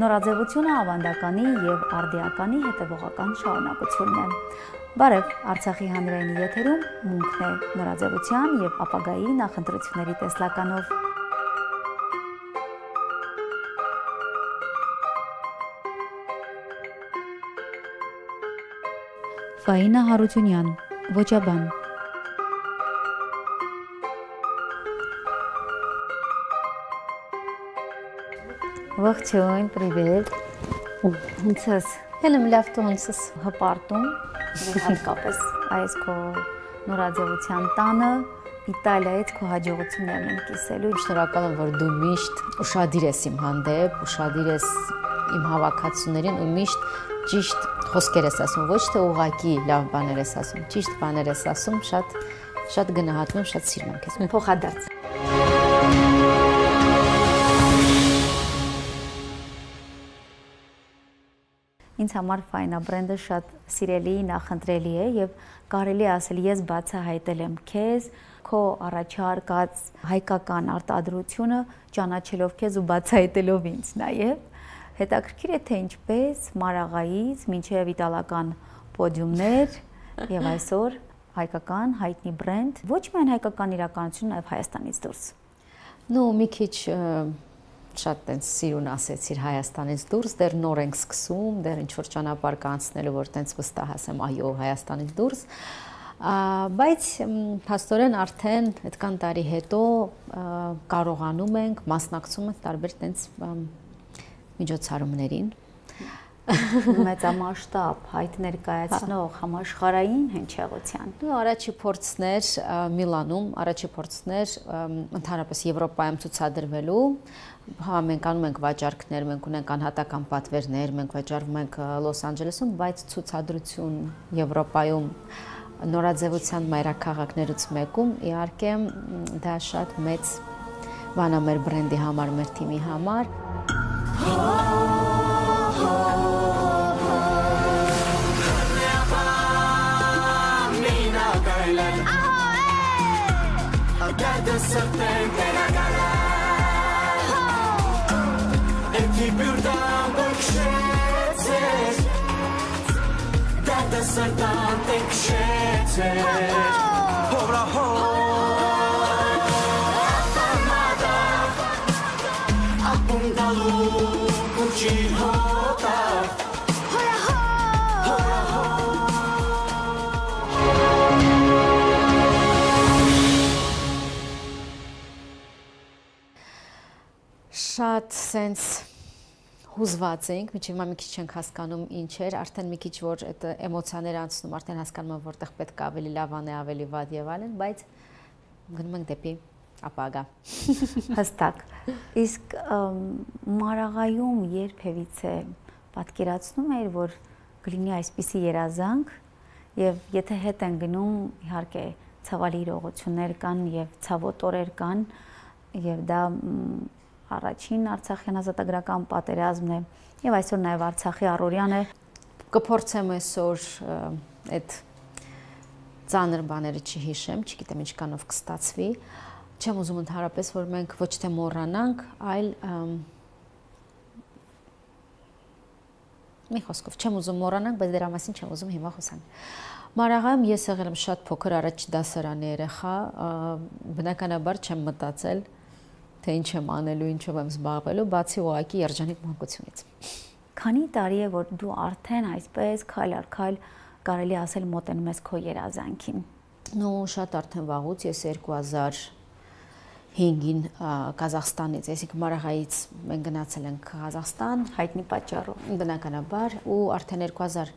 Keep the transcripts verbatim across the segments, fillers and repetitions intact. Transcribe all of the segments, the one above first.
Նորաձևությունը ավանդականի և արդիականի հետևողական շարունակությունն է։ Բարև, Արցախի հանրայինի եթերում մունքն է նորաձևության և ապագայի նախընտրությունների տեսլականով։ Ֆաինա Հարությունյան, ոճաբան։ Ողջույն, պրիվետ։ Ոնց ես։ Հենց լավ դու ոնց ես։ Հպարտում, հատկապես այս քո նորաձևության տանը, Իտալիայից քո հաջողություններն են կիսելու։ Շնորհակալ եմ, որ դու միշտ ուշադիր ես իմ հանդեպ, ուշադիր ես իմ հավաքածուներին ու միշտ ճիշտ խոսքեր ես ասում, ոչ թե ուղղակի լավ բաներ ես ասում, ճիշտ բաներ ես ասում, շատ շատ գնահատում եմ, շատ սիրում եմ քեզ։ Փոխադարձ։ Ինձ համար Ֆայնա բրենդը շատ սիրելի, նախընտրելի է եւ կարելի է ասել ես բացահայտել եմ քեզ, քո առաջարկած հայկական արտադրությունը ճանաչելով քեզ ու բացահայտելով ինձ նաեւ։ Հետաքրքիր է թե ինչպես Մարաղայից մինչև իտալական պոդիումներ եւ այսօր հայկական հայտնի բրենդ, ոչ միայն հայկական իրականություն, նաեւ Հայաստանից դուրս։ Ну, մի քիչ շատ տենց սիրուն ասեցիր Հայաստանից դուրս, դեռ նոր ենք սկսում, դեռ ինչ որ ճանապարհ կա անցնելու, որ տենց վստահ ասեմ, այո, Հայաստանից դուրս։ Բայց փաստորեն արդեն այդքան տարի հետո կարողանում ենք, մասնակցում ենք տարբեր տենց միջոցառումներին մեծամասշտաբ հայտ ներկայացնող համաշխարհային հնչեղության։ Ու առաջի փորձներ Միլանում, առաջի փորձներ ընդհանրապես Եվրոպայում ցուցադրվելու, հա մենք անում ենք վաճառքներ, մենք ունենք անհատական պատվերներ, մենք վաճառվում ենք Լոս Անջելեսում, բայց ցուցադրություն Եվրոպայում նորաձևության մայրաքաղաքներից մեկում իհարկե դա շատ մեծ բան է մեր բրենդի համար, մեր թիմի համար։ Շատ սենց հուզված ենք, միջև հիմա մի քիչ չենք հասկանում ինչ էր, արդեն մի քիչ որ այդ էմոցիաները անցնում, արդեն հասկանում եմ որտեղ պետք է ավելի լավ անի, ավելի վատ եւ այլն, բայց գնում ենք դեպի ապագա։ Հստակ։ Իսկ Մարաղայում երբևիցե պատկերացնում էիր, որ կլինի այսպիսի երազանք եւ եթե հետ են գնում, իհարկե ցավալի իրողություններ կան եւ ցավոտ օրեր կան եւ դա առաջին Արցախյան ազատագրական պատերազմն է եւ այսօր նաեւ Արցախի առօրյան է։ Կփորձեմ այսօր այդ ծանր բաները չհիշեմ, չգիտեմ ինչքանով կստացվի։ Չեմ ուզում ընդհանրապես որ մենք ոչ թե մոռանանք, այլ մի խոսքով չեմ ուզում մոռանանք, բայց դրա մասին չեմ ուզում հիմա խոսանք։ Մարաղայում ես եղել եմ շատ փոքր առաջ դասարանի երեխա, բնականաբար չեմ մտածել թե ինչ եմ անելու, ինչով եմ զբաղվելու, բացի ուղղակի երջանիկ մանկությունից։ Քանի տարի է, որ դու արդեն այսպես քայլ առ քայլ կարելի ասել մոտենում ես քո երազանքին։ Ну, շատ արդեն վաղուց, ես երկու հազար հինգին Կազախստանից, այսինքն Մարաղայից մենք գնացել ենք Ղազախստան, հայտնի պատճառով, բնականաբար, ու արդեն երկու հազար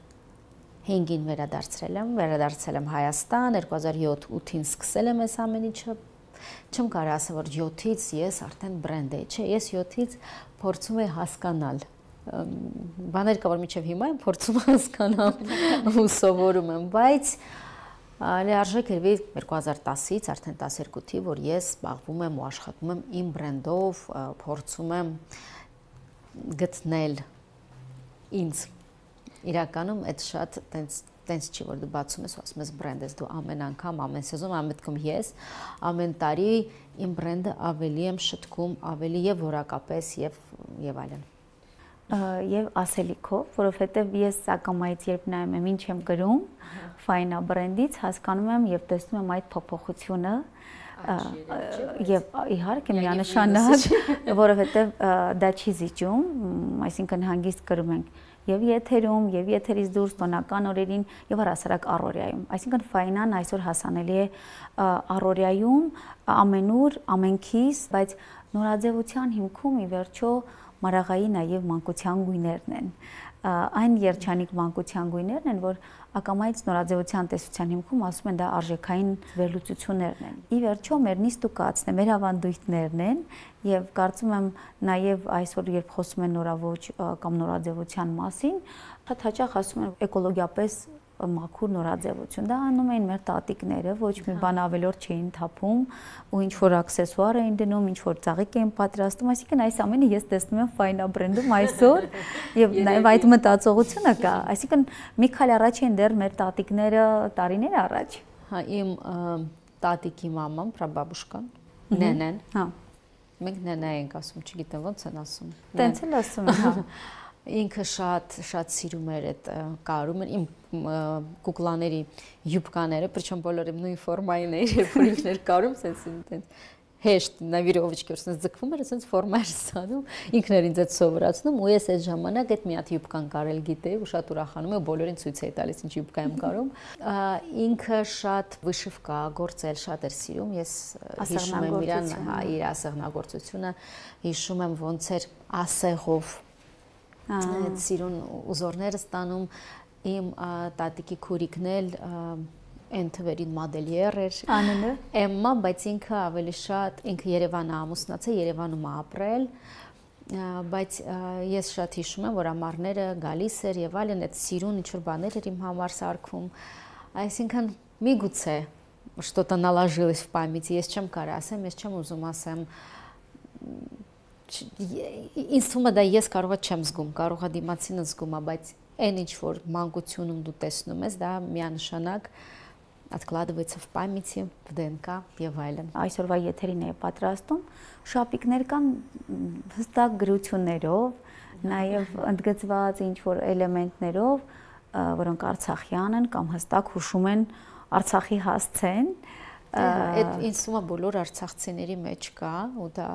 հինգին վերադարձել եմ, վերադարձել եմ Հայաստան, երկու հազար յոթ ութին սկսել եմ այս ամեն ինչը։ Չեմ կարող ասել, որ յոթից ես արդեն բրենդ էի, չէ, ես յոթից փորձում եի հասկանալ։ Բաներ կա, որ մինչև հիմա եմ փորձում հասկանալ ու սովորում եմ, բայց լիարժեք էր երկու հազար տասից, արդեն տասներկու թիվ, որ ես զբաղվում եմ ու աշխատում եմ իմ բրենդով, փորձում եմ գտնել ինձ։ Իրականում այդ շատ տենց տենց չի, որ դու բացում ես ու ասում ես բրենդ ես, դու ամեն անգամ, ամեն սեզոն, ամեն մտքում ես, ամեն տարի իմ բրենդը ավելի եմ շտկում, ավելի եւ որակապես եւ եւ այլն։ եւ ասելիքով, որովհետեւ ես ակամայից երբ նայում եմ ինչ եմ գրում Fina բրենդից, հասկանում եմ եւ տեսնում եմ այդ փոփոխությունը եւ իհարկե միանշանակ, որովհետեւ դա չի զիջում, այսինքն հանգիստ գրում ենք եւ եթերում, եւ եթերից դուրս տոնական օրերին եւ առասարակ առօրյայում։ Այսինքն Fina-ն այսօր հասանելի է առօրյայում, ամենուր, ամենքից, բայց նորաձևության հիմքում ի վերջո մարաղայի նաև մանկության գույներն են։ Այն երջանիկ մանկության գույներն են, որ ակամայից նորաձևության տեսության հիմքում ասում են դա արժեքային վերլուծություններն են։ Ի վերջո մեր նիստուկացն է, մեր ավանդույթներն են եւ կարծում եմ նաև այսօր երբ խոսում են նորաոճ կամ նորաձևության մասին, շատ հաճախ ասում են էկոլոգիապես մաքուր նորաձևություն։ Դա անում էին մեր տատիկները, ոչ մի բան ավելորդ չէին թափում ու ինչ որ աքսեսուար էին դնում, ինչ որ ծաղիկ էին պատրաստում, այսինքն այս ամենը ես տեսնում եմ Fina բրենդում այսօր եւ նաեւ այդ մտածողությունը կա, այսինքն մի քանի առաջ են դեռ մեր տատիկները տարիներ առաջ։ Հա, իմ տատիկի մաման, պրաբաբուշկան, նենեն։ Հա։ Մենք նենա ենք ասում, չգիտեմ ոնց են ասում։ Տենց էլ ասում են, հա։ Ինքը շատ շատ սիրում էր այդ կարում իմ կուկլաների յուբկաները, причем բոլորը նույն ֆորմային էր, երբ որ ինքն էր կարում, sense sense հեշտ նավիրովիչկը sense ձգվում էր, sense ֆորմա էր ստանում, ինքն էր ինձ այդ սովորացնում ու ես այդ ժամանակ այդ մի հատ յուբկան կարել գիտեի ու շատ ուրախանում եմ, բոլորին ցույց էի տալիս ինչ յուբկա եմ կարում։ Ինքը շատ վիշվկա գործել շատ էր սիրում, ես հիշում եմ իրան, հա, իր ասեղնագործությունը, հիշում եմ ոնց էր ասեղով այդ սիրուն ուզորները ստանում, իմ տատիկի քուրիկն էլ այն թվերին մոդելյեր էր, անունը Էմմա, բայց ինքը ավելի շատ, ինքը Երևանը ամուսնացել, Երևանում ապրել, բայց ես շատ հիշում եմ, որ ամառները գալիս էր եւ այլն, այդ սիրուն ինչ-որ բաներ էր իմ համար սարքում, այսինքն միգուցե что-то наложилось в памяти, ես չեմ կարող ասեմ, ես չեմ ուզում ասեմ ինձ թվում է դա ես կարողա չեմ զգում, կարողա դիմացինը զգում է, բայց այն ինչ որ մանկությունում դու տեսնում ես, դա միանշանակ откладывается в памяти, в ДНК եւ այլն։ Այսօրվա եթերին է պատրաստում, շապիկներ կան հստակ գրություններով, նաեւ ընդգծված ինչ որ էլեմենտներով, որոնք արցախյան են կամ հստակ հուշում են Արցախի հասցեն։ Այդ ինձ թվում է բոլոր արցախցիների մեջ կա ու դա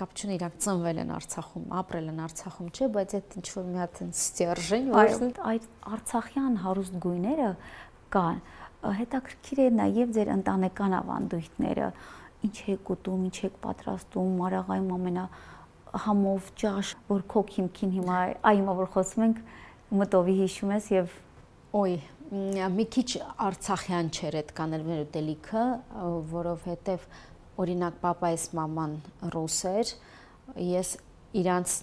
կապչուն իրանք ծնվել են Արցախում, ապրել են Արցախում, չէ, բայց այդ ինչ որ մի հատ ստержень, որ այդ արցախյան հարուստ գույները կան։ Հետաքրքիր է նաև ձեր ընտանեկան ավանդույթները, ինչ եք ուտում, ինչ եք պատրաստում, Մարաղայում ամենա համով ճաշ, որ քո քիմքին հիմա այ հիմա որ խոսում ենք մտովի հիշում ես եւ օй մի քիչ արցախյան չէր այդ կանելներ ուտելիքը, որովհետեւ օրինակ պապայիս մաման ռուս էր, ես իրանց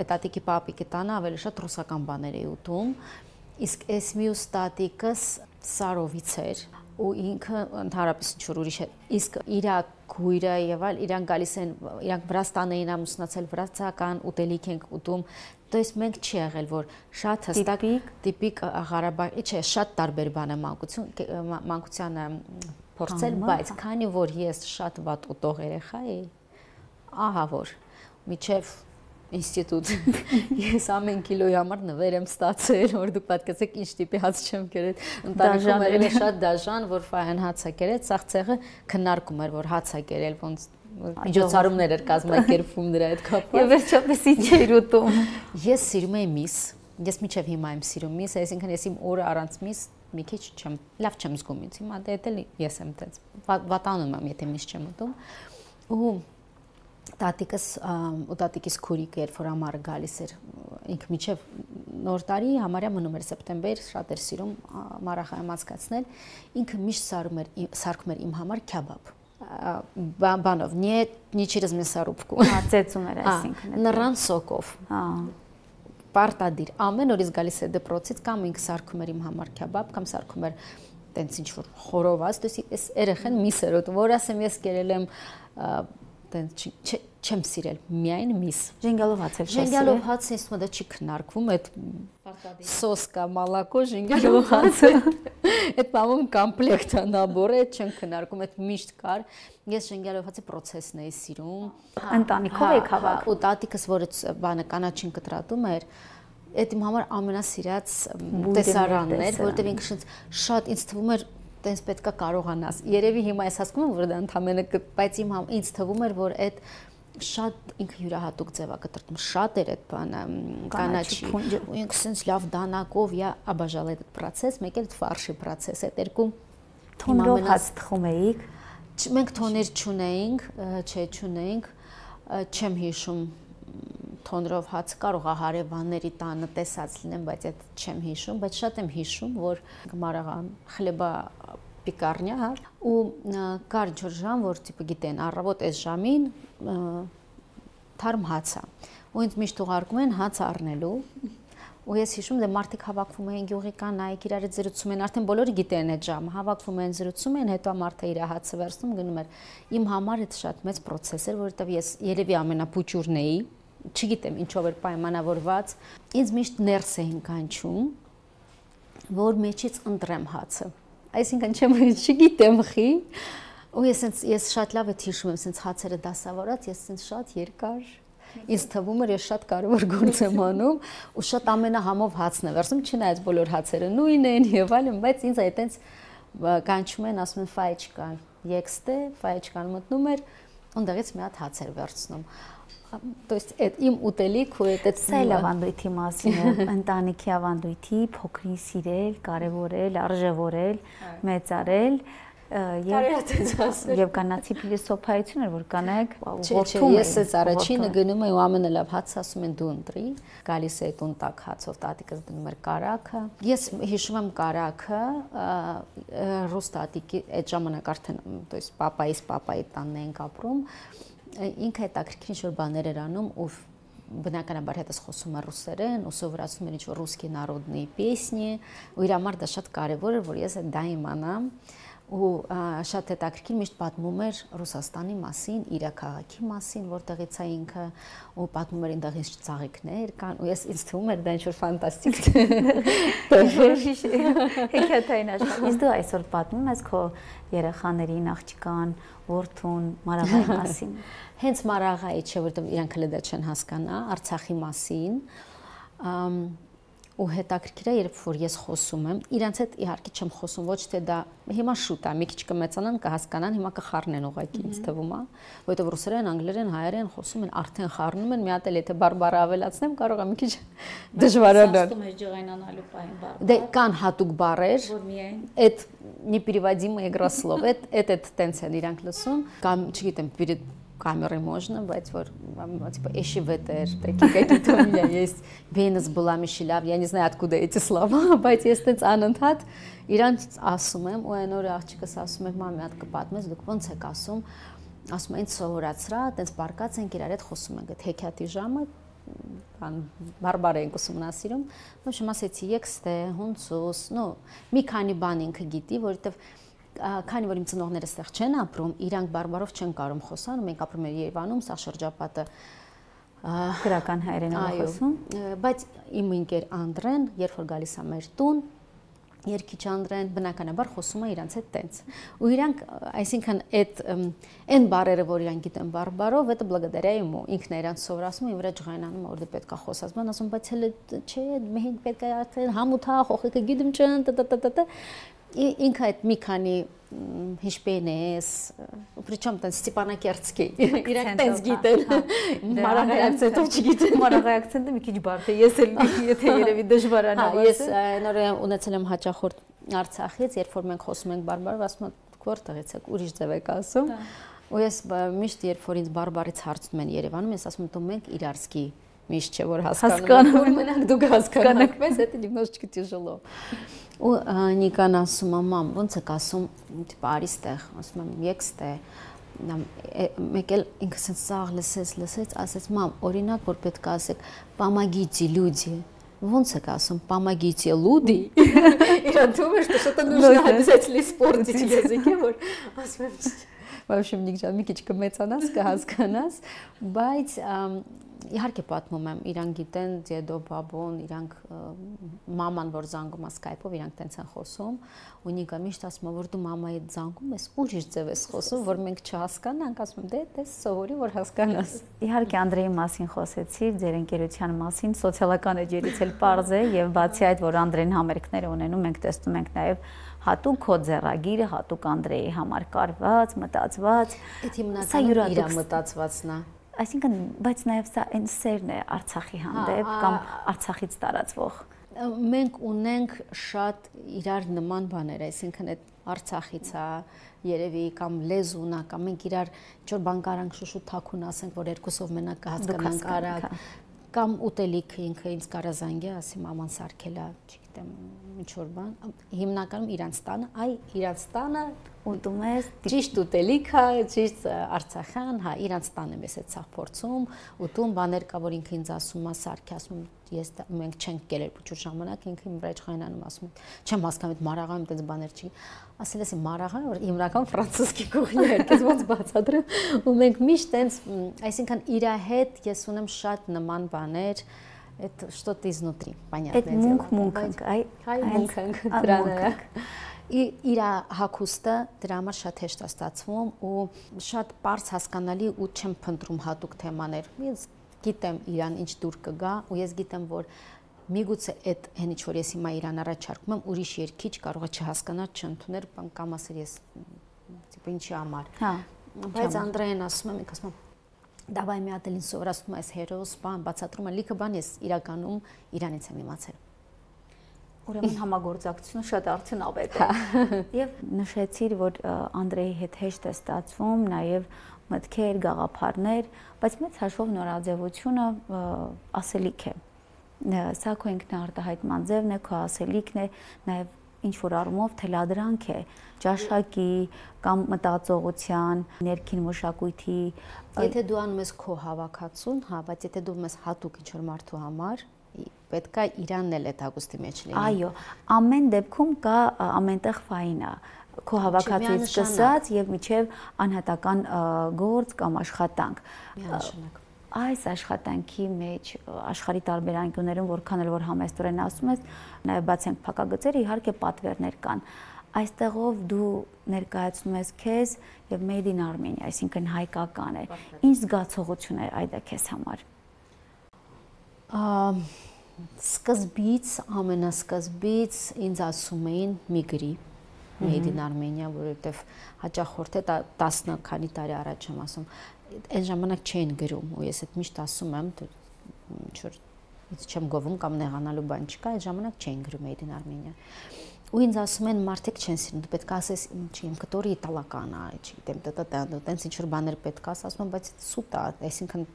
տատիկի պապիկի տանը ավելի շատ ռուսական բաներ էի ուտում, իսկ այս մյուս տատիկս Սարովից էր ու ինքը ընդհանրապես ինչ-որ ուրիշ էր, իսկ իրա քույրը եւ այլ իրանք գալիս են, իրանք Վրաստան էին ամուսնացել, վրացական ուտելիք ենք ուտում, то есть մենք չի եղել, որ շատ հստակ տիպիկ Ղարաբաղի, չէ, շատ տարբեր բան է մանկություն, մանկությանը փորձել, բայց քանի որ ես շատ վատ ուտող երեխա էի, ահա որ միջև ինստիտուտ ես ամեն քիլոյի համար նվեր եմ ստացել, որ դուք պատկերացեք ինչ տիպի հաց չեմ կերել, ընտանիքում եղել է շատ դաժան, որ ֆայն հաց է կերել, սաղ ցեղը քննարկում էր, որ հաց է կերել, ոնց միջոցառումներ էր կազմակերպվում դրա հետ կապված։ Եվ վերջապես ինչ էր ուտում։ Ես սիրում եմ միս, ես միջև հիմա եմ սիրում միս, այսինքն ես իմ օրը առանց միս մի քիչ չեմ, լավ չեմ զգում ինձ, հիմա դա էլ ես եմ տենց վատանում եմ, եթե միս չեմ ուտում։ Ու տատիկս ու տատիկիս քուրիկը երբ որ ամառը գալիս էր, ինքը միջև նոր տարի համարյա մնում էր սեպտեմբեր, շատ էր սիրում Մարաղայում անցկացնել, ինքը միշտ սարում էր, սարքում էր իմ համար քյաբաբ։ Բանով, не не через мясорубку։ Հա, ծեծում էր այսինքն։ Նռան սոկով։ Հա։ Պարտադիր։ Ամեն օրից գալիս է դպրոցից կամ ինքը սարքում էր իմ համար քյաբաբ, կամ սարքում էր տենց ինչ որ խորոված, դες էս երեխան միս էր ուտում, որ ասեմ ես կերել եմ տենց չեմ սիրել, միայն միս։ Ժենգյալով հացել չես։ Ժենգյալով հացը ինձ մոտ չի քննարկվում, այդ սոսկա, մալակո, ժենգյալով հացը։ Այդ բանում կոմպլեկտ է, նաբոր է, չեն քննարկում, այդ միշտ կար։ Ես ժենգյալով հացի process-ն էի սիրում։ Ընտանիքով եք հավաք։ Ու տատիկս, որ բանը կանաչին կտրատում էր, այդ իմ համար ամենասիրած տեսարանն էր, որտեղ ինքը շատ ինձ թվում էր տենց պետքա կարողանաս։ Երևի հիմա ես հասկանում եմ, որ դա ընդհանրապես, բայց իմ համ ինձ թվում էր, որ այդ շատ ինքը յուրահատուկ ձև է կտրտում, շատ էր այդ բանը կանաչի, ու ինքը sense լավ դանակով я обожала этот процесс, մեկ էլ ֆարշի process, այդ երկու թոնրով հաց թխում էիք։ Մենք թոներ չունեինք, չէ, չունեինք, չեմ հիշում թոնրով հաց կարող է հարևանների տանը տեսած լինեմ, բայց այդ չեմ հիշում, բայց շատ եմ հիշում, որ գմարաղան խլեբա պիկարնյա, հա, ու կար ջոր ժամ, որ տիպը գիտեն, առավոտ այս ժամին թարմ հաց է, ու ինձ միշտ ուղարկում են հաց առնելու, ու ես հիշում դե մարդիկ հավաքվում են գյուղի կանայք, իրար հետ զրուցում են, արդեն բոլորը գիտեն այդ ժամը, հավաքվում են, զրուցում են, հետո մարդը իր հացը վերցնում, գնում էր։ Իմ համար այդ շատ մեծ process էր, որովհետև ես երևի ամենապուճուրն էի, չգիտեմ ինչով էր պայմանավորված, ինձ միշտ ներս էին կանչում, որ մեջից ընտրեմ հացը, այսինքն չեմ չգիտեմ խի, ու ես ես շատ լավ եմ հիշում եմ, սենց հացերը դասավորած, ես սենց շատ երկար, ինձ թվում էր ես շատ կարևոր գործ եմ անում, ու շատ ամենահամով հացն է վերցնում, չնայած բոլոր հացերը նույն են եւ այլն, բայց ինձ այտենց կանչում են, ասում են ֆայչկա, եկստե, ֆայչկան մտնում էր, ունդեղից մի հատ հաց էր վերցնում։ То есть это им ուտելիք ու այդ սայլ ավանդույթի մասին է, ընտանիքի ավանդույթի փոքրին սիրել, կարևորել, արժևորել, մեծարել եւ կանացի փիլիսոփայություն էր, որ կանայք որդում են։ Ես այս առաջինը գնում եմ ու ամենալավ հաց ասում են դու ընտրի, գալիս է տուն տակ հացով տատիկս դնում էր կարակը։ Ես հիշում եմ կարակը, ռուս տատիկի այդ ժամանակ արդեն, то есть պապայիս պապայի տանն ենք ապրում, ինքը հետաքրքիր ինչ-որ բաներ էր անում ու բնականաբար հետս խոսում էր ռուսերեն ու սովորացնում էր ինչ-որ ռուսկի народные песни ու իր համար դա շատ կարևոր էր, որ ես դա իմանամ ու շատ հետաքրքիր միշտ պատմում էր Ռուսաստանի մասին, իր քաղաքի մասին, որտեղից է ինքը ու պատմում էր այնտեղից ծաղիկներ կան ու ես ինձ թվում էր դա ինչ-որ ֆանտաստիկ հեքիաթային աշխարհ։ Իսկ դու այսօր պատմում ես քո երեխաներին, աղջկան, որդուն, Մարաղայի մասին։ Հենց Մարաղայի չէ, որտեղ իրանք հենց դա չեն հասկանա, Արցախի մասին։ Ու հետաքրքիր է, երբ որ ես խոսում եմ, իրանց հետ իհարկե չեմ խոսում, ոչ թե դա հիմա շուտ է, մի քիչ կմեծանան, կհասկանան, հիմա կխառնեն ուղղակի ինձ թվում է, որովհետև ռուսերեն, անգլերեն, հայերեն խոսում են, արդեն խառնում են, մի հատ էլ եթե բարբառը ավելացնեմ, կարող է մի քիչ դժվարանալ։ Ասում ես ջղայնանալու պահին բարբառ։ Դե կան հատուկ բառեր, որ միայն այդ непереводимые игрослов, այդ այդ տենց են իրանք լսում, կամ չգիտեմ, перед камерой можно, բայց որ типа эши ветер, такие какие-то у меня есть. Венес была Мишелав, я не знаю откуда эти слова, բայց ես տենց անընդհատ իրանց ասում եմ, ու այն օրը աղջիկս ասում էր, մամի հատ կպատմես, դուք ոնց եք ասում, ասում են սովորացրա, տենց բարկած ենք իրար հետ խոսում ենք, այդ հեքիաթի ժամը բան բարբար ենք ուսումնասիրում, ну շում ասեցի եկստե, հունցուս, ну մի քանի բան ինքը գիտի, որովհետև քանի որ իմ ծնողները ստեղ չեն ապրում, իրանք բարբարով չեն կարող խոսան, մենք ապրում ենք Երևանում, սա շրջապատը գրական հայերենով խոսում, բայց իմ ընկեր Անդրեն, երբ որ գալիս է մեր տուն, երկիչ Անդրեն բնականաբար խոսում է իրանց հետ տենց։ Ու իրանք, այսինքն այդ այն բառերը, որ իրանք գիտեն բարբարով, это благодаря ему, ինքն է իրանց սովորացնում, իմ վրա ջղայնանում, որ դե պետք է խոսած, բան ասում, բայց հələ չէ, մենք պետք է արդեն համութա, խոխիկը գիտեմ չեն, տտտտտ ինքը այդ մի քանի հիշպենես, причем տենց Ստեփանակերտսկի, իրանք տենց գիտեն, մարաղայի акցենտով չգիտեն։ Մարաղայի акցենտը մի քիչ բարդ է, ես էլ եթե երևի դժվարանա։ Ես նոր ունեցել եմ հաճախորդ Արցախից, երբ որ մենք խոսում ենք բարբարով, ասում եմ, որտեղից եք, ուրիշ ձև եք ասում։ Ու ես միշտ երբ որ ինձ բարբարից հարցնում են Երևանում, ես ասում եմ, դու մենք իրարսկի միշտ չէ որ հասկանում եմ, մենակ դուք հասկանաք, բայց это немножечко тяжело։ Ու Նիկան ասում է, մամ, ոնց եք ասում, տիպ արիստեղ, ասում եմ, եկստե, մեկ էլ ինքը սենց սաղ լսեց, лысեց, ասեց, մամ, օրինակ, որ պետք է ասեք, помогите люди, ոնց եք ասում, помогите люди, իրան թվում է, что что-то нужно обязательно испортить в языке, որ ասում եմ, Вообще մի քիչ մի քիչ կմեծանաս, կհասկանաս, բայց իհարկե պատմում եմ, իրանք գիտեն դեդո, բաբոն, իրանք մաման, որ զանգում է Skype-ով, իրանք տենց են խոսում, ու Նիկա միշտ ասում է, որ դու մամայի հետ զանգում ես, ուրիշ ձև ես խոսում, որ մենք չհասկանանք, ասում եմ, դե դες սովորի, որ հասկանաս։ Իհարկե Անդրեի մասին խոսեցի, ձեր ընկերության մասին, սոցիալական էջերից էլ պարզ է, եւ բացի այդ, որ Անդրեին համերգներ ունենում, մենք տեսնում ենք նաեւ հատուկ քո ձեռագիրը, հատուկ Անդրեի համար կարված, մտածված։ Այդ հիմնականում իր մտածվածն է։ Այսինքն, բայց նաև սա այն սերն է Արցախի հանդեպ կամ Արցախից տարածվող։ Մենք ունենք շատ իրար նման բաներ, այսինքն այդ Արցախից է երևի կամ լեզուն է, կամ մենք իրար ինչ-որ բան կարանք շուշուտ թաքուն ասենք, որ երկուսով մենակ կհասկանանք արագ, կամ ուտելիքը ինքը ինձ կարա զանգի, ասի մաման սարքել է, չգիտեմ, ինչ-որ բան, հիմնականում իրանց տանը, այ իրանց տանը ուտում ես ճիշտ ուտելիք է, ճիշտ արցախյան, հա, իրանց տանը ես այդ սաղ փորձում, ուտում բաներ կա, որ ինքը ինձ ասում է, սարքի ասում ես մենք չենք կերել փոքր ժամանակ, ինքը իմ վրա իշխանանում ասում է, չեմ հասկանում այդ մարաղանում այդպես բաներ չի, ասել ես մարաղան, որ հիմնական ֆրանցузский կուխնա է, քեզ ոնց բացատրեմ, ու մենք միշտ այնց, այսինքն իր հետ ես ունեմ շատ նման բաներ, այդ что-то изнутри, понятное дело։ Այդ մունք-մունք, այ այ մունք դրանը։ Իր հագուստը դրա համար շատ հեշտ է ստացվում ու շատ པարզ հասկանալի ու չեմ փնտրում հատուկ թեմաներ։ Ես գիտեմ իրան ինչ դուր կգա ու ես գիտեմ, որ միգուցե այդ հենիչ որ ես հիմա իրան առաջարկում եմ, ուրիշ երկիչ կարող է չհասկանալ, չընդունել, կամ ասել ես տիպը ինչի համար։ Հա, բայց Անդրեին ասում եմ, ինքը ասում է դավայ մի հատ էլ ինձ սովորացնում ես հերոս, բան, բացատրում եմ, լիքը բան ես իրականում իրանից եմ իմացել։ Ուրեմն համագործակցությունը շատ արդյունավետ է։ Եվ նշեցիր, որ Անդրեի հետ հեշտ է ստացվում, նաև մտքեր, գաղափարներ, բայց մեծ հաշվով նորաձևությունը ասելիք է։ Սա քո ինքնարտահայտման ձևն է, քո ասելիքն է, նաև ինչ որ առումով թելադրանք է, ճաշակի կամ մտածողության, ներքին մշակույթի։ Եթե դու անում ես քո հավաքածուն, հա, բայց եթե դու ես հատուկ ինչ որ մարդու համար, պետք է իրանն էլ այդ հագուստի մեջ լինի։ Այո, ամեն դեպքում կա ամենտեղ ֆայնա, քո հավաքածուից սկսած եւ միջև անհատական գործ կամ աշխատանք։ Միանշանակ։ Այս աշխատանքի մեջ աշխարհի տարբեր անկյուններում որքան էլ որ համեստորեն ասում ես, նաև բացենք փակագծերը, իհարկե պատվերներ կան։ Այստեղով դու ներկայացնում ես քեզ եւ Made in Armenia, այսինքն հայկական է։ Ինչ զգացողություն է այդ քեզ համար։ Սկզբից, ամենասկզբից ինձ ասում էին մի գրի Made in Armenia, որովհետեւ հաճախորդ է տասը քանի տարի առաջ եմ ասում, այն ժամանակ չէին գրում, ու ես այդ միշտ ասում եմ, ինչ որ ինձ չեմ գովում կամ նեղանալու բան չկա, այդ ժամանակ չէին գրում Made in Armenia։ Ու ինձ ասում են մարդիկ չեն սիրում, դու պետք է ասես, ինչի իմ կտորի իտալական է, չգիտեմ, տտտա, տենց ինչ որ բաներ պետք է ասում, բայց սուտ է, այսինքն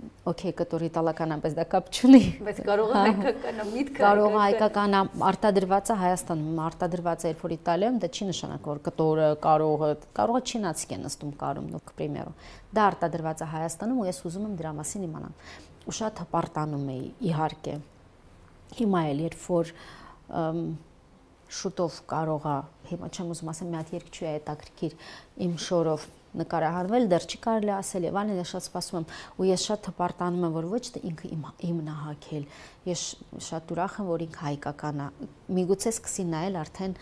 օքեյ, կտորի իտալական է, բայց դա կապ չունի։ Բայց կարող է հայկականը միտքը։ Կարող է հայկականը արտադրված է Հայաստանում, արտադրված է երբ որ Իտալիայում, դա չի նշանակում, որ կտորը կարող է, կարող է չինացիք են նստում կարում, նո к примеру։ Դա արտադրված է Հայաստանում ու ես ուզում եմ դրա մասին իմանալ։ Ու շատ հպարտանում էի, իհարկե։ Հիմա էլ երբ որ շուտով կարող է, հիմա չեմ ուզում ասեմ, մի հատ երգչուհի է հետաքրքիր իմ շորով նկարահանվել, դեռ չի կարելի ասել եւ այլն, ես շատ սպասում եմ ու ես շատ հպարտանում եմ, որ ոչ թե ինքը իմն է հագել, ես շատ ուրախ եմ, որ ինքը հայկական է, միգուցե սկսի նայել արդեն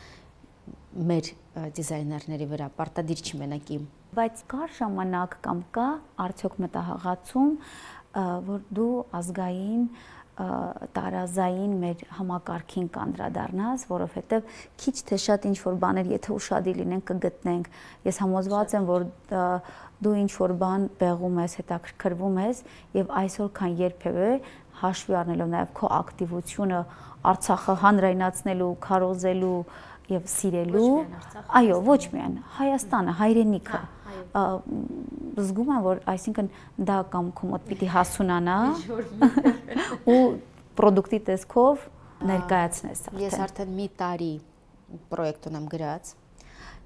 մեր դիզայներների վրա, պարտադիր չի մենակ իմ։ Բայց կար ժամանակ կամ կա արդյոք մտահղացում, որ դու ազգային տարազային մեր համակարգին կանդրադառնաս, որովհետև քիչ թե շատ ինչ որ բաներ, եթե ուշադիր լինենք, կգտնենք։ Ես համոզված եմ, որ դու ինչ որ բան բեղում ես, հետաքրքրվում ես եւ այսօր քան երբևէ հաշվի առնելով նաեւ քո ակտիվությունը Արցախը հանրայնացնելու, քարոզելու եւ սիրելու, այո, ոչ միայն Հայաստանը, հայրենիքը։ Զգում եմ, որ այսինքն դա կամ քո մոտ պիտի հասունանա ու պրոդուկտի տեսքով ներկայացնես արդեն։ Ես արդեն մի տարի պրոյեկտ ունեմ գրած։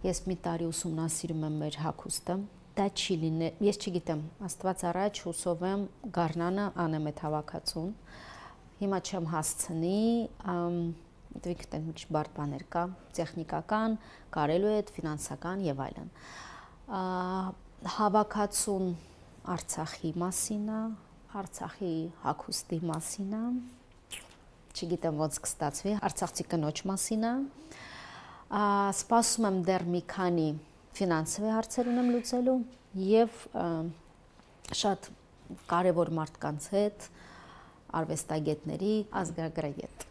Ես մի տարի ուսումնասիրում եմ մեր հագուստը։ Դա չի լինի, ես չգիտեմ, Աստված առաջ հուսով եմ գառնանը անեմ այդ հավաքածուն։ Հիմա չեմ հասցնի, դեպի կտեն մի բարդ բաներ կա, տեխնիկական, կարելու է, ֆինանսական եւ այլն։ Հավաքածուն Արցախի մասին է, Արցախի հագուստի մասին է, չգիտեմ ոնց կստացվի, արցախցի կնոջ մասին է, սպասում եմ դեռ մի քանի ֆինանսовի հարցեր ունեմ լուծելու եւ շատ կարևոր մարդկանց հետ, արվեստագետների, ազգագրագետ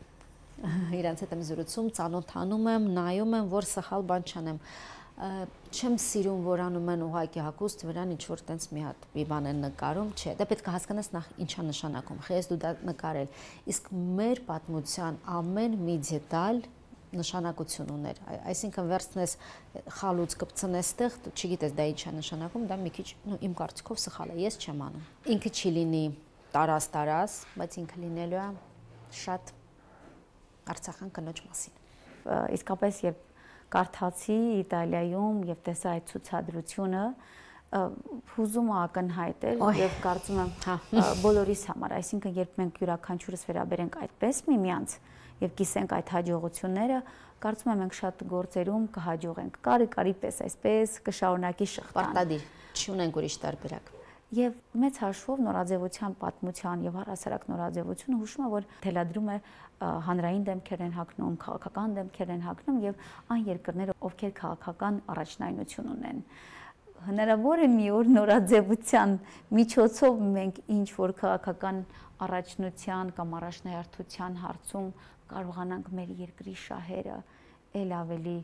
իրանց հետ եմ զրուցում, ծանոթանում եմ, նայում եմ, որ սխալ բան չանեմ։ Չեմ սիրում, որ անում են ուղղակի հագուստ վրան ինչ որ տենց մի հատ մի բան են նկարում, չէ, դա պետք է հասկանաս նախ ինչա նշանակում, խես դու դա նկարել։ Իսկ մեր պատմության ամեն մի դետալ նշանակություն ուներ, այսինքն վերցնես խալուց կպցնես տեղ, չգիտես դա ինչ է նշանակում, դա մի քիչ իմ կարծիքով սխալ է, ես չեմ անում։ Ինքը չի լինի տարած-տարած, բայց ինքը լինելու է շատ արցախյան կնոջ մասին։ Իսկապես երբ կարդացի Իտալիայում եւ տեսա այդ ցուցադրությունը, հուզումը ակնհայտ էր եւ կարծում եմ բոլորիս համար, այսինքն երբ մենք յուրաքանչյուրս վերաբերենք այդպես միմյանց եւ կիսենք այդ հաջողությունները, կարծում եմ մենք շատ գործերում կհաջողենք։ Կարի կարի պես այսպես կշարունակի շղթան։ Պարտադիր, չունենք ուրիշ տարբերակ։ Եւ մեծ հաշվով նորաձևության պատմության եւ առհասարակ նորաձևությունը հուշում է, որ թելադրում է հանրային դեմքեր են հագնում, քաղաքական դեմքեր են հագնում եւ այն երկրները, ովքեր քաղաքական առաջնայնություն ունեն։ Հնարավոր է մի օր նորաձևության միջոցով մենք ինչ որ քաղաքական առաջնության կամ առաջնահերթության հարցում կարողանանք մեր երկրի շահերը ել ավելի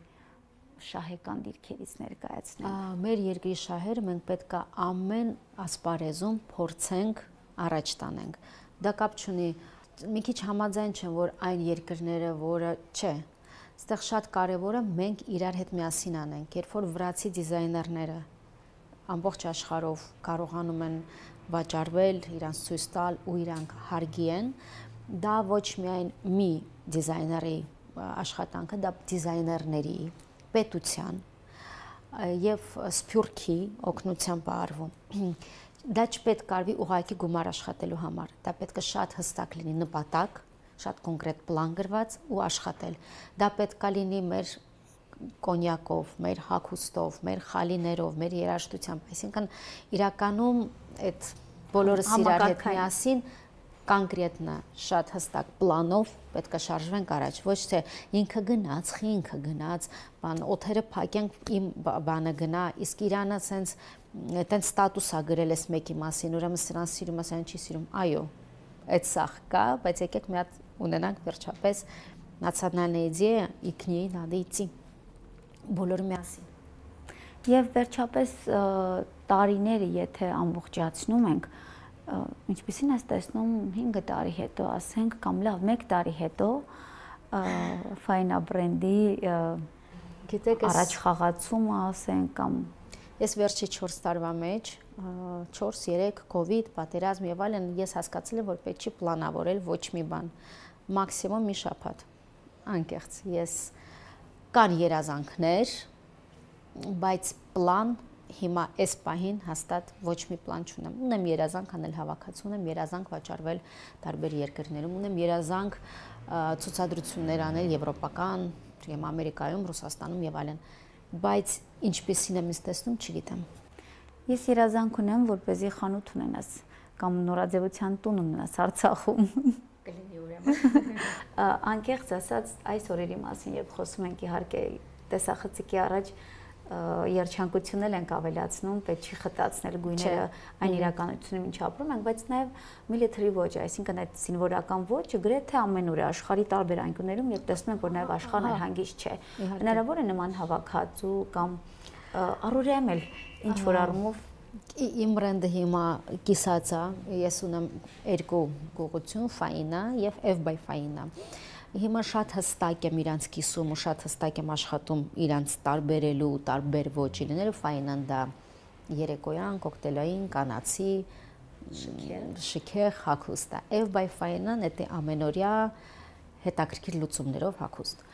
շահեկան դիրքերից ներկայացնել։ Մեր երկրի շահերը մենք պետք է ամեն ասպարեզում փորձենք առաջ տանենք։ Դա կապ չունի, մի քիչ համաձայն չեմ, որ այն երկրները, որը չէ, այստեղ շատ կարևոր է մենք իրար հետ միասին անենք, երբ որ վրացի դիզայներները ամբողջ աշխարհով կարողանում են վաճառվել, իրանց ցույց տալ ու իրանք հարգի են, դա ոչ միայն մի դիզայների աշխատանքը, դա դիզայներների պետության եւ սփյուռքի օգնությամբ արվում։ Դա չպետք արվի ուղղակի գումար աշխատելու համար, դա պետք է շատ հստակ լինի նպատակ, շատ կոնկրետ պլան գրված ու աշխատել։ Դա պետք է լինի մեր կոնյակով, մեր հագուստով, մեր խալիներով, մեր երաժշտությամբ, այսինքն իրականում այդ բոլորս իրար հետ միասին կոնկրետնա շատ հստակ պլանով պետք է շարժվենք առաջ, ոչ թե ինքը գնաց, ինքը գնաց, բան օթերը փակենք, իմ բանը գնա, իսկ Իրանը sense այտենց ստատուս է գրել էս մեկի մասին, ուրեմն սրան սիրում, ասեն չի սիրում։ Այո, այդ սախ կա, բայց եկեք մի հատ ունենանք վերջապես национальная идея и к ней надо идти բոլորը միասին։ Եվ վերջապես տարիները եթե ամբողջացնում ենք, ինչպեսին ես տեսնում հինգ տարի հետո, ասենք, կամ լավ մեկ տարի հետո Ֆայնա բրենդի առաջ խաղացումը, ասենք, կամ ես վերջի չորս տարվա մեջ, չորս երեք կովիդ, պատերազմ եւ այլն, ես հասկացել եմ, որ պետք չի պլանավորել ոչ մի բան, մաքսիմում մի շաբաթ։ Անկեղծ, ես կան երազանքներ, բայց պլան հիմա այս պահին հաստատ ոչ մի պլան չունեմ։ Ունեմ երազանք անել հավաքածու, ունեմ երազանք վաճառվել տարբեր երկրներում, ունեմ երազանք ցուցադրություններ անել եվրոպական, կամ Ամերիկայում, Ռուսաստանում եւ այլն, բայց ինչպեսին եմ տեսնում, չգիտեմ։ Ես երազանք ունեմ, որպեսզի խանութ ունենաս կամ նորաձևության տուն ունենաս Արցախում։ Կլինի ուրեմն։ Անկեղծ ասած, այս օրերի մասին, երբ խոսում ենք իհարկե տեսախցիկի առաջ երջանկությունն ենք ավելացնում, պետք չի խտացնել գույները այն իրականությունում ինչ ապրում ենք, բայց նաև military ոճը, այսինքն այդ զինվորական ոճը գրեթե ամենուր է աշխարհի տարբեր անկյուններում եւ տեսնում ենք, որ նաև աշխարհն էլ հանգիստ չէ։ Հնարավոր է նման հավաքածու կամ առօրյայում էլ ինչ որ առումով իմ բրենդը հիմա կիսած է, ես ունեմ երկու գողություն, Ֆայնա եւ F by Ֆայնա։ Հիմա շատ հստակ եմ իրանց կիսում ու շատ հստակ եմ աշխատում իրանց տարբերելու, տարբեր ոճի լինելու, Ֆայնան դա երեկոյան, կոկտեյլային, կանացի, շքեղ հագուստ է։ F by Ֆայնան դա ամենօրյա հետաքրքիր լուծումներով հագուստ։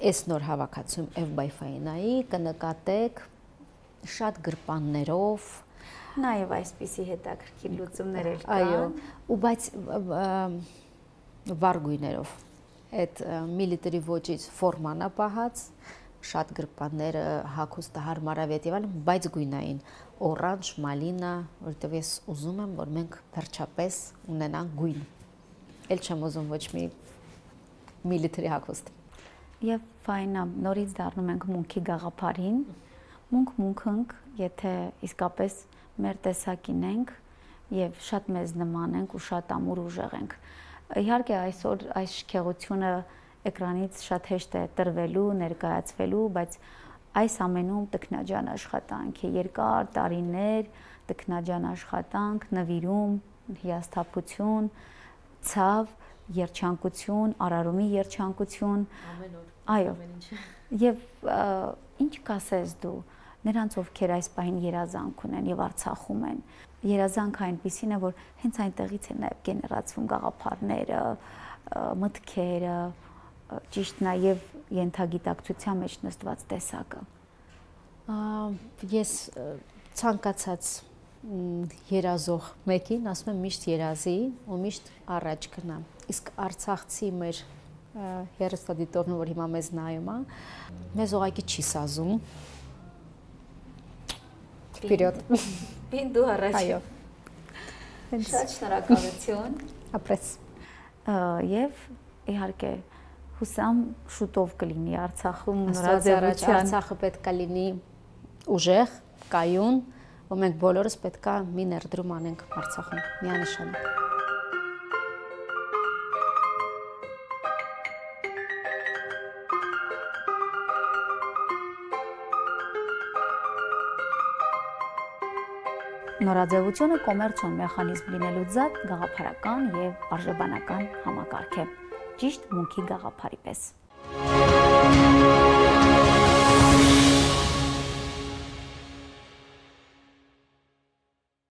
Այս նոր հավաքածում F by Ֆայնայի կնկատեք շատ գրպաններով, նաև այսպիսի հետաքրքիր լուծումներ էլ կան։ Այո, ու բայց վառ գույներով։ Այդ military ոճից ֆորման է պահած, շատ գրպանները հագուստը հարմարավետ եւ այլն, բայց գույնային օրանժ, մալինա, որովհետեւ ես ուզում եմ, որ մենք վերջապես ունենանք գույն։ Էլ չեմ ուզում ոչ մի միլիտրի հագուստ։ Եվ ֆայնա, նորից դառնում ենք մունքի գաղափարին։ Մունք մունքենք, եթե իսկապես մեր տեսակին ենք եւ շատ մեզ նման ենք ու շատ ամուր ուժեղ ենք։ Իհարկե այսօր այս շքեղությունը էկրանից շատ հեշտ է տրվելու, ներկայացվելու, բայց այս ամենում տքնաջան աշխատանք է, երկար տարիներ տքնաջան աշխատանք, նվիրում, հիասթափություն, ցավ, երջանկություն, արարումի երջանկություն, ամեն օր, այո, ամեն ինչ։ Եվ ինչ կասես դու նրանց, ովքեր այս պահին երազանք ունեն եւ Արցախում են։ Երազանքը այնպիսին է, որ հենց այնտեղից է նաեւ գեներացվում գաղափարները, մտքերը, ճիշտ նաեւ ենթագիտակցության մեջ նստված տեսակը։ Ես ցանկացած երազող մեկին ասում եմ միշտ երազի ու միշտ առաջ գնա։ Իսկ արցախցի մեր հեռուստադիտողն, որ հիմա մեզ նայում է, մեզ ուղղակի չի սազում։ Վперед։ Բին դու առաջ։ Այո։ Շատ շնորհակալություն։ Ապրես։ Եվ իհարկե հուսամ շուտով կլինի Արցախում նորաձևության։ Արցախը պետք է լինի ուժեղ, կայուն, ու մենք բոլորս պետք է մի ներդրում անենք Արցախում, միանշանակ։ Նորաձևությունը կոմերցիոն մեխանիզմ լինելու զատ գաղափարական եւ արժեբանական համակարգ է, ճիշտ մունքի գաղափարի պես։